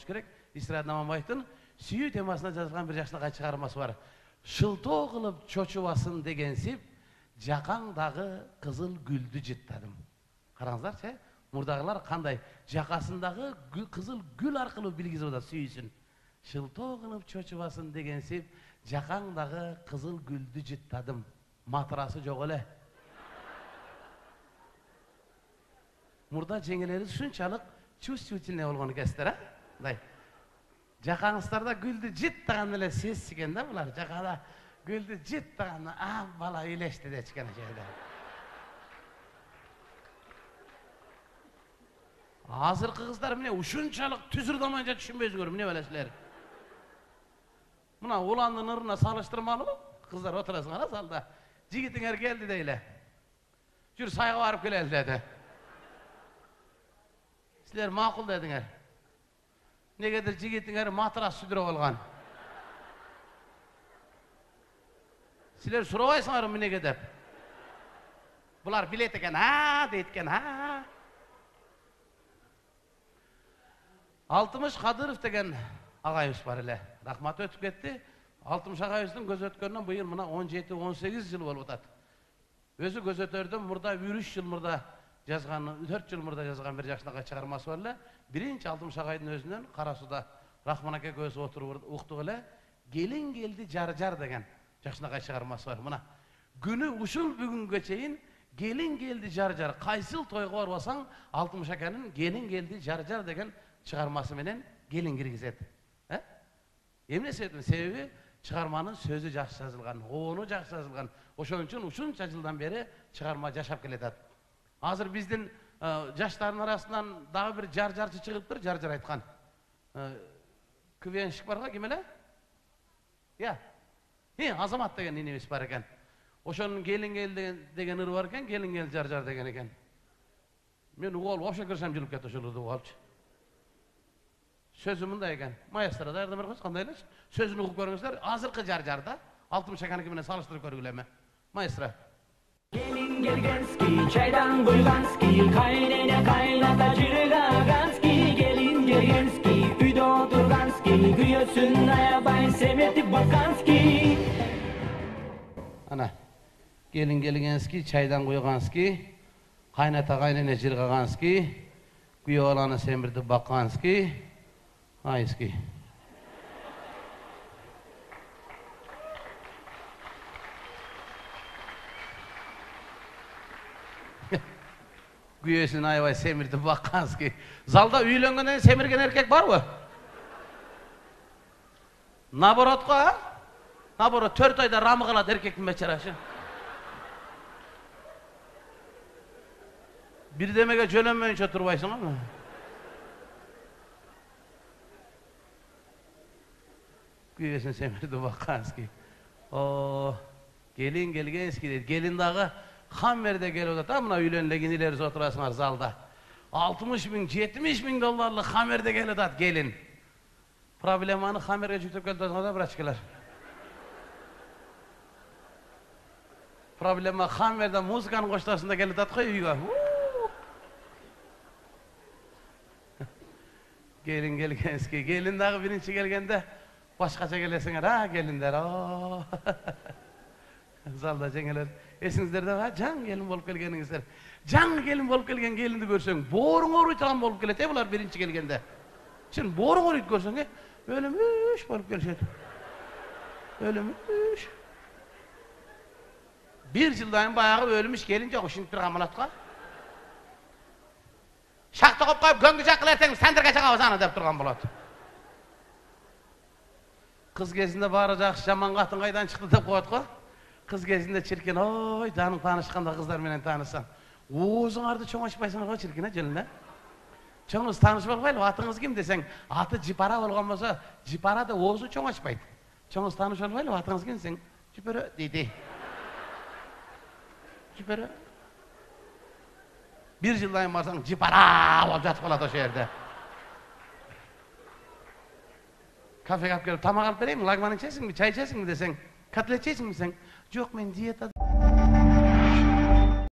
болуш керек. Исрат Наманбаевдин сүйүү темасына жазылган бир жакшынакай чыгармасы бар. Шылтоо кылып чочубасын дегенсип, жакаңдагы кызыл гүлдү жыттадым. Караңыздарчы, мурдагылар кандай жакасындагы кызыл гүл аркылуу билгизип атат сүйүүсүн. Шылтоо кылып чочубасын дегенсип, жакаңдагы кызыл гүлдү жыттадым. Матырасы жок эле. Мурда жеңелерибиз ушунчалык чувствительный болгон экенсиздер, а? Мындай. Жакаңыздарда гүлдү жыттаган эле сез экен да булар. Жакада гүлдү жыттаганда, бала үйлешти деп чыккан жерде. Азыркы кыздар эмне ушунчалык түзүрдамайынча түшүнбөйсүңөр, эмне белесиздер? Мына уландын ырына салыштырмалуу, кыздар отурасыңар залда. Жигитиңер келди дейле. Жүр сайга барып келели деди. Силер макул дедиңер. Негедир жигитиңер матрас сүдүрүп алган. Силер сурабайсыңар эмнеге деп. Булар билет экен, дейт экен, Алтымыш Кадыров деген агайыбыз бар эле. Рахмат өтүп кетти. Алтымыш агайыбыздын көз өткөнүнөн быйыл мына 17-18 жыл болуп атат. Өзү көз өтөрдөн мурда 3 жыл мурда жазган, 4 жыл мурда жазган бир жакшынакай чыгармасы бар эле. Биринчи Алтымыш агайдын өзүнөн Кара сууда Рахман аке көз отуруп уктук эле. Келин келди жар деген жакшынакай чыгармасы бар. Мына күнү ушул бүгүнгө чейин келин келди жар. Кайсыл тойго барбасаң Алтымыш акенин келин келди жар деген чыгармасы менен келин киргизет. Эмне себеби чыгарманын сөзү жакшы жазылган, обону жакшы жазылган. Ошон үчүн ушунча жылдан бери чыгарма жашап келатат. Азыр биздин жаштардын арасынан дагы бир жарчы чыгыптыр, жар айткан. КВНщик барга, ким эле? Азамат деген инебиз бар экен. Ошонун келин кел деген ыры бар экен, келин кел жар деген экен. Мен угол вообще кырсам жылып кетти ошол ырды угалчы. Сөзү мындай экен. Маэстро даярдап бериңиз, кандай эле? Сөзүн угуп көрүңүздөр. Азыркы жарда Алтымыш акеники менен салыштырып көргүлө эми. Маэстро. Gelin gelgenski, çaydan buyganski, kaynene kaynata jırgaganski, gelin gelgenski, uyda oturganski, güyösün ayabay semetip bakanski. Ana, gelin gelgenski, çaydan buyganski, kaynata kaynene jırgaganski, güyö olanı semirtip bakanski, ayski. Güyösün ayvay semirtip bakkanski. Zalda üylөнгөндөн семирген эркек барбы? Наоборотко, Наоборот 4 айда рамы калат эркектин бечарашы. Бирдемеге жөнөмөйүнчө турбайсыңарбы? Güyösүн семиртип bakkanski. Gelin gelgenski дейт. Gelin дагы Хаммерде келип атат, мына үйлөнгөн илерибиз отурасыңар залда. 60 миң, 70 миң долларлык Хаммерде келип атат келин. Проблеманы Хаммерге жүктөп келип атат да, брачкалар. Проблема Хаммерде музыканын коштасында келип атат го үйгө. Gelin gelgenski. Gelin дагы биринчи келгенде башкача келесиңер, келиндер. Залда жеңелер. Эсиңиздерде жаңы келин болуп келгениңиздер. Жаңы келин болуп келген келинди көрсөң, бооруң ооруй турган болуп келет, булар биринчи келгенде. Сен бооруң ооруйт көрсөң, өлүмүш болуп келишет. Өлүмүш. Bir жылдан баягы өлүмүш келин жок, ушинтип турган болотко. Шакта коп коюп көңгү жаккыла эртең сандырга чыгабыз аны деп турган болот. Кыз кезинде баары жакшы, жаман катын кайдан чыкты деп коет го. Кыз кезинде чиркен, ой, жаның таанышканда кыздар менен таанышсаң. Оозуңарды чоң ачпайсыңар го чиркен, жылына. Чоңуз таанышып албайлы, атыңыз ким десең, аты Жипара болгон болсо, Жипара да оозу чоң ачпайт. Чоңуз таанышып албайлы, атыңыз ким десең, Жипара дейди. Жипара. Bir жылдан барсаң, Жипара болуп жатып калат ошол жерде. Кафеге алып келип, тамак алып берейин, лагман ичесиңби, чай ичесиңби десең, котлет жейсиңби десең, жок, мен диетада